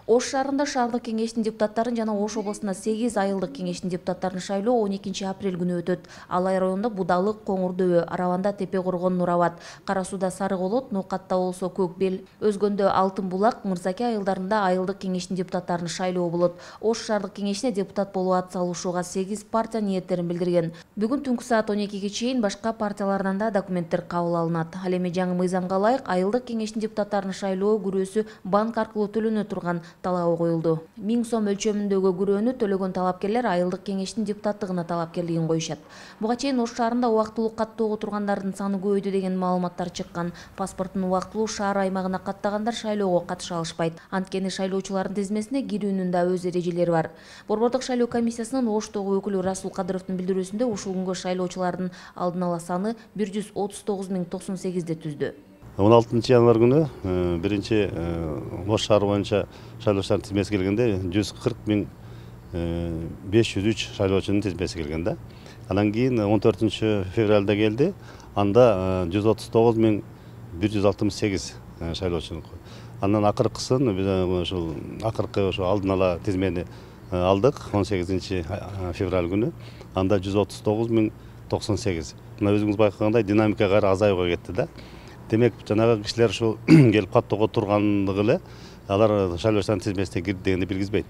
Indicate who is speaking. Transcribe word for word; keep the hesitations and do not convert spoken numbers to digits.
Speaker 1: Ош шаарында шаардык кеңештин депутаттарын жана Ош облусунда сегиз айылдык кеңештин депутаттарын шайлоо он экинчи апрель күнү өтөт. Алай районунда Будалык, Коңур дөбө, Арабанда Тепе Коргон, Нур Абад, Кара сууда Сары Колот, Ноокатта болсо Көк Бел, Өзгөндө Алтын Булак, Мырзаке айылдарында айылдык кеңештин депутаттарын шайлоо болот. Ош шаардык кеңешине депутат болуп ат салышууга сегиз партия ниеттерин билдирген. Бүгүн түнкү саат он экиге чейин башка партиялардан да документтер кабыл алынат. Ал эми жаңы мыйзамга ылайык айылдык кеңештин депутаттарын шайлоо күрөөсү банк аркылуу төлөнө турган талабы коюлду. миң сом өлчөмүндөгү күрөөнү төлөгөн талапкерлер айылдык кеңештин депутаттыгына талапкерлигин коюшат. Буга чейин Ош шаарында убактылуу каттоого тургандардын саны көбөйдү деген маалыматтар чыккан. Паспортун убактылуу шаар аймагына каттагандар шайлоого катыша алышпайт. Анткени шайлоочулардын тизмесине кирүүнүн да өз эрежелери бар. Борбордук шайлоо комиссиясынын Оштогу өкүлү Расул Кадыровдун билдирүүсүндө ушул күнгө шайлоочулардын алдын ала саны бир жүз отуз тогуз миң токсон сегизди түздү.
Speaker 2: он алтынчы январь күнү биринчи Ош шаары боюнча шайлоочулардын тизмеси келгенде жүз кырк миң беш жүз үч шайлоочунун тизмеси келген да. Анан кийин он төртүнчү февралда келди. Анда жүз отуз тогуз миң бир жүз алтымыш сегиз шайлоочу. Андан акыркысын биз ушул акыркы ошо алдын ала тизмени алдык он сегизинчи февраль күнү. Анда жүз отуз тогуз миң токсон сегиз. Мына өзүңүз байкагандай динамика кайра азаюуга кетти да. Демек жанагы кишилер ушул келип каттоого тургандыгы эле алар шайлоочулардын тизмесине кирди дегенди билгизбейт.